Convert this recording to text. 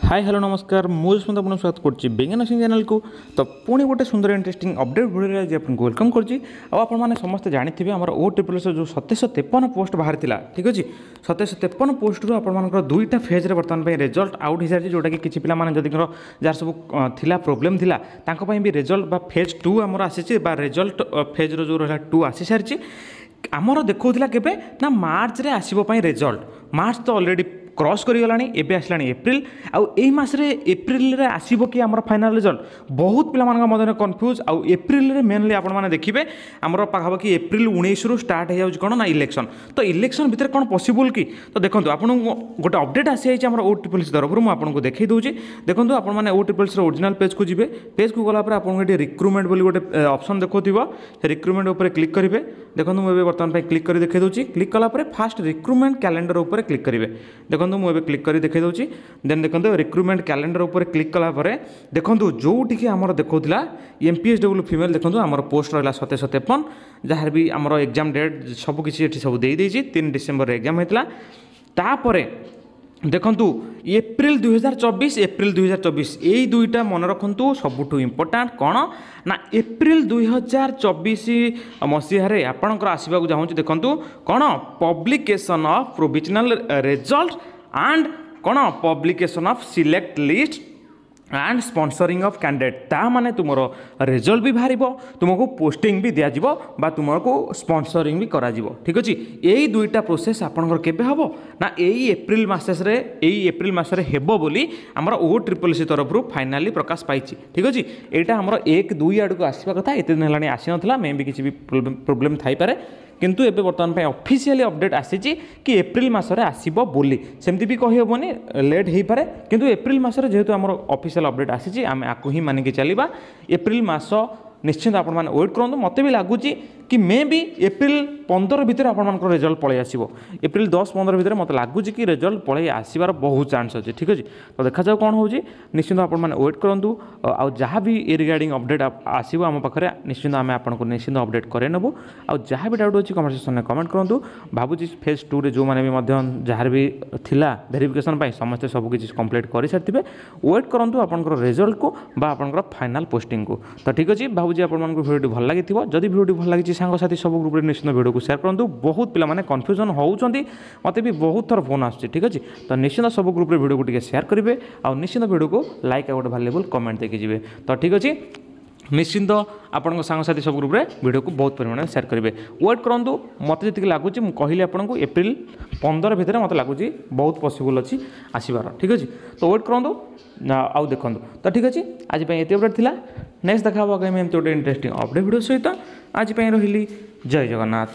High, hello, ନମସ୍କାର। ମୁଁ ଯଶବନ୍ତ, ଆପଣଙ୍କୁ ସ୍ୱାଗତ କରୁଛି ବେଙ୍ଗା ନର୍ସିଂ ଚ୍ୟାନେଲକୁ। ତ ପୁଣି ଗୋଟେ ସୁନ୍ଦର ଇଣ୍ଟରେଷ୍ଟିଂ ଅପଡେଟ୍ ଭିଡ଼ିଓରେ ଆଜି ଆପଣଙ୍କୁ welcome କରୁଛି। ଆଉ ଆପଣମାନେ ସମସ୍ତେ ଜାଣିଥିବେ, ଆମର ଓ ଟ୍ରିପଲ୍ ଏସ୍ ଯେଉଁ 2753 ପୋଷ୍ଟ ବାହାରିଥିଲା, ଠିକ୍ ଅଛି, 2753 ପୋଷ୍ଟରୁ ଆପଣମାନଙ୍କର ଦୁଇଟା ଫେଜ୍ରେ ବର୍ତ୍ତମାନ ପାଇଁ ରେଜଲ୍ଟ ଆଉଟ୍ ହେଇସାରିଛି, ଯେଉଁଟାକି କିଛି ପିଲାମାନେ ଯଦିଙ୍କର ଯାହାର ସବୁ ଥିଲା, ପ୍ରୋବ୍ଲେମ୍ ଥିଲା, ତାଙ୍କ ପାଇଁ ବି ରେଜଲ୍ଟ ବା ଫେଜ୍ ଟୁ ଆମର ଆସିଛି ବା ରେଜଲ୍ଟ ଫେଜ୍ର ଯେଉଁ ରହିଲା ଟୁ ଆସିସାରିଛି। ଆମର ଦେଖାଉଥିଲା କେବେ ନା ମାର୍ଚ୍ଚରେ ଆସିବ ପାଇଁ ରେଜଲ୍ଟ। ମାର୍ଚ୍ଚ ତ ଅଲରେଡ଼ି କ୍ରସ୍ କରିଗଲାଣି, ଏବେ ଆସିଲାଣି ଏପ୍ରିଲ। ଆଉ ଏଇ ମାସରେ ଏପ୍ରିଲରେ ଆସିବ କି ଆମର ଫାଇନାଲ୍ ରେଜଲ୍ଟ, ବହୁତ ପିଲାମାନଙ୍କ ମଧ୍ୟରେ କନଫ୍ୟୁଜ୍। ଆଉ ଏପ୍ରିଲରେ ମେନଲି ଆପଣମାନେ ଦେଖିବେ, ଆମର ପାଖାପାଖି ଏପ୍ରିଲ 19ରୁ ଷ୍ଟାର୍ଟ ହେଇଯାଉଛି କ'ଣ ନା ଇଲେକ୍ସନ୍। ତ ଇଲେକ୍ସନ୍ ଭିତରେ କ'ଣ ପସିବୁଲ୍ କି? ତ ଦେଖନ୍ତୁ, ଆପଣଙ୍କୁ ଗୋଟେ ଅପଡେଟ୍ ଆସିଯାଇଛି ଆମର ଓ ଟ୍ରିପଲ୍ ଏସ୍ ତରଫରୁ, ମୁଁ ଆପଣଙ୍କୁ ଦେଖାଇ ଦେଉଛି। ଦେଖନ୍ତୁ, ଆପଣମାନେ ଓ ଟ୍ରିପଲ୍ ଏସ୍ର ଓରିଜିନାଲ୍ ପେଜ୍କୁ ଯିବେ। ପେଜ୍କୁ ଗଲା ପରେ ଆପଣଙ୍କୁ ଏଠି ରିକ୍ରୁଟମେଣ୍ଟ ବୋଲି ଗୋଟେ ଅପସନ୍ ଦେଖାଉଥିବ, ସେ ରିକ୍ରୁଟମେଣ୍ଟ ଉପରେ କ୍ଲିକ୍ କରିବେ। ଦେଖନ୍ତୁ, ମୁଁ ଏବେ ବର୍ତ୍ତମାନ ପାଇଁ କ୍ଲିକ୍ କରି ଦେଖାଇ ଦେଉଛି। କ୍ଲିକ୍ କଲା ପରେ ଫାଷ୍ଟ ରିକ୍ରୁଟମେଣ୍ଟ କ୍ୟାଲେଣ୍ଡର ଉପରେ କ୍ଲିକ୍ କରିବେ। ଦେଖନ୍ତୁ, ମୁଁ ଏବେ କ୍ଲିକ୍ କରି ଦେଖାଇ ଦେଉଛି। ଦେନ୍ ଦେଖନ୍ତୁ, ରିକ୍ରୁଟମେଣ୍ଟ କ୍ୟାଲେଣ୍ଡର ଉପରେ କ୍ଲିକ୍ କଲା ପରେ ଦେଖନ୍ତୁ, ଯେଉଁଠିକି ଆମର ଦେଖାଉଥିଲା M P S W female, ଦେଖନ୍ତୁ, ଆମର ପୋଷ୍ଟ ରହିଲା 2753, ଯାହାର ବି ଆମର ଏକ୍ଜାମ୍ ଡେଟ୍ ସବୁ କିଛି ଏଠି ସବୁ ଦେଇଦେଇଛି। 3 ଡିସେମ୍ବରରେ ଏକ୍ଜାମ୍ ହେଇଥିଲା। ତାପରେ ଦେଖନ୍ତୁ, ଏପ୍ରିଲ 2024, ଏପ୍ରିଲ 2024, ଏଇ ଦୁଇଟା ମନେ ରଖନ୍ତୁ, ସବୁଠୁ ଇମ୍ପୋର୍ଟାଣ୍ଟ। କ'ଣ ନା ଏପ୍ରିଲ 2024 ମସିହାରେ ଆପଣଙ୍କର ଆସିବାକୁ ଚାହୁଁଛି। ଦେଖନ୍ତୁ, କ'ଣ publication of provisional result and କ'ଣ publication of select list and sponsoring of candidate। ତା ମାନେ ତୁମର ରେଜଲ୍ଟ ବି ବାହାରିବ, ତୁମକୁ ପୋଷ୍ଟିଂ ବି ଦିଆଯିବ ବା ତୁମକୁ ସ୍ପନ୍ସରିଂ ବି କରାଯିବ। ଠିକ୍ ଅଛି, ଏଇ ଦୁଇଟା ପ୍ରୋସେସ୍ ଆପଣଙ୍କର କେବେ ହେବ ନା ଏଇ ଏପ୍ରିଲ ମାସରେ, ଏଇ ଏପ୍ରିଲ ମାସରେ ହେବ ବୋଲି ଆମର ଓ ଟ୍ରିପଲ୍ ସି ତରଫରୁ ଫାଇନାଲି ପ୍ରକାଶ ପାଇଛି। ଠିକ୍ ଅଛି, ଏଇଟା ଆମର 1 2 ଆଡ଼କୁ ଆସିବା କଥା, ଏତେ ଦିନ ହେଲାଣି ଆସିନଥିଲା, ମେ ବି କିଛି ବି ପ୍ରୋବ୍ଲେମ୍ ଥାଇପାରେ। କିନ୍ତୁ ଏବେ ବର୍ତ୍ତମାନ ପାଇଁ ଅଫିସିଆଲି ଅପଡେଟ୍ ଆସିଛି କି ଏପ୍ରିଲ ମାସରେ ଆସିବ ବୋଲି। ସେମିତି ବି କହିହେବନି, ଲେଟ୍ ହେଇପାରେ। କିନ୍ତୁ ଏପ୍ରିଲ ମାସରେ ଯେହେତୁ ଆମର ଅଫିସିଆଲ ଅପଡେଟ୍ ଆସିଛି, ଆମେ ଆକୁ ହିଁ ମାନିକି ଚାଲିବା। ଏପ୍ରିଲ ମାସ ନିଶ୍ଚିନ୍ତ ଆପଣମାନେ ୱେଟ୍ କରନ୍ତୁ। ମୋତେ ବି ଲାଗୁଛି କି ମେ ବି ଏପ୍ରିଲ 15 ଭିତରେ ଆପଣମାନଙ୍କର ରେଜଲ୍ଟ ପଳେଇ ଆସିବ। ଏପ୍ରିଲ 10 15 ଭିତରେ ମୋତେ ଲାଗୁଛି କି ରେଜଲ୍ଟ ପଳେଇ ଆସିବାର ବହୁତ ଚାନ୍ସ ଅଛି। ଠିକ୍ ଅଛି, ତ ଦେଖାଯାଉ କ'ଣ ହେଉଛି। ନିଶ୍ଚିନ୍ତ ଆପଣମାନେ ୱେଟ୍ କରନ୍ତୁ। ଆଉ ଯାହା ବି ଏ ରିଗାର୍ଡ଼ିଂ ଅପଡେଟ୍ ଆସିବ ଆମ ପାଖରେ, ନିଶ୍ଚିନ୍ତ ଆମେ ଆପଣଙ୍କୁ ନିଶ୍ଚିନ୍ତ ଅପଡେଟ୍ କରେଇ ନେବୁ। ଆଉ ଯାହା ବି ଡାଉଟ୍ ଅଛି, କମେଣ୍ଟ ସେକ୍ସନରେ କମେଣ୍ଟ କରନ୍ତୁ। ଭାବୁଛି ଫେଜ୍ ଟୁରେ ଯେଉଁମାନେ ବି ମଧ୍ୟ ଯାହାର ବି ଥିଲା ଭେରିଫିକେସନ୍ ପାଇଁ, ସମସ୍ତେ ସବୁ କିଛି କମ୍ପ୍ଲିଟ୍ କରିସାରିଥିବେ। ୱେଟ୍ କରନ୍ତୁ ଆପଣଙ୍କର ରେଜଲ୍ଟକୁ ବା ଆପଣଙ୍କର ଫାଇନାଲ୍ ପୋଷ୍ଟିଂକୁ। ତ ଠିକ୍ ଅଛି, ଭାବୁଛି ଆପଣମାନଙ୍କୁ ଭିଡ଼ିଓଟି ଭଲ ଲାଗିଥିବ। ଯଦି ଭିଡ଼ିଓଟି ଭଲ ଲାଗିଛି, ସାଙ୍ଗସାଥି ସବୁ ଗ୍ରୁପ୍ରେ ନିଶ୍ଚିନ୍ତ ଭିଡ଼ିଓକୁ ସେୟାର କରନ୍ତୁ। ବହୁତ ପିଲାମାନେ କନଫ୍ୟୁଜନ୍ ହେଉଛନ୍ତି, ମୋତେ ବି ବହୁତ ଥର ଫୋନ୍ ଆସୁଛି। ଠିକ୍ ଅଛି, ତ ନିଶ୍ଚିନ୍ତ ସବୁ ଗ୍ରୁପ୍ରେ ଭିଡ଼ିଓକୁ ଟିକେ ସେୟାର କରିବେ ଆଉ ନିଶ୍ଚିନ୍ତ ଭିଡ଼ିଓକୁ ଲାଇକ୍ ଆଉ ଗୋଟେ ଭାଲ୍ୟୁବୁଲ୍ କମେଣ୍ଟ ଦେଇକି ଯିବେ। ତ ଠିକ୍ ଅଛି, ନିଶ୍ଚିନ୍ତ ଆପଣଙ୍କ ସାଙ୍ଗସାଥି ସବୁ ଗ୍ରୁପ୍ରେ ଭିଡ଼ିଓକୁ ବହୁତ ପରିମାଣରେ ସେୟାର କରିବେ। ୱେଟ୍ କରନ୍ତୁ। ମୋତେ ଯେତିକି ଲାଗୁଛି ମୁଁ କହିଲି ଆପଣଙ୍କୁ, ଏପ୍ରିଲ 15 ଭିତରେ ମୋତେ ଲାଗୁଛି ବହୁତ ପସିବୁଲ୍ ଅଛି ଆସିବାର। ଠିକ୍ ଅଛି, ତ ୱେଟ୍ କରନ୍ତୁ ଆଉ ଦେଖନ୍ତୁ। ତ ଠିକ୍ ଅଛି, ଆଜି ପାଇଁ ଏତିକି ଅପଡ଼େଟ୍ ଥିଲା। ନେକ୍ସଟ ଦେଖା ହେବ ଆଗାମୀ ଏମିତି ଗୋଟେ ଇଣ୍ଟରେଷ୍ଟିଂ ଅପଡ଼େଟ୍ ଭିଡ଼ିଓ ସହିତ। ଆଜି ପାଇଁ ରହିଲି, ଜୟ ଜଗନ୍ନାଥ।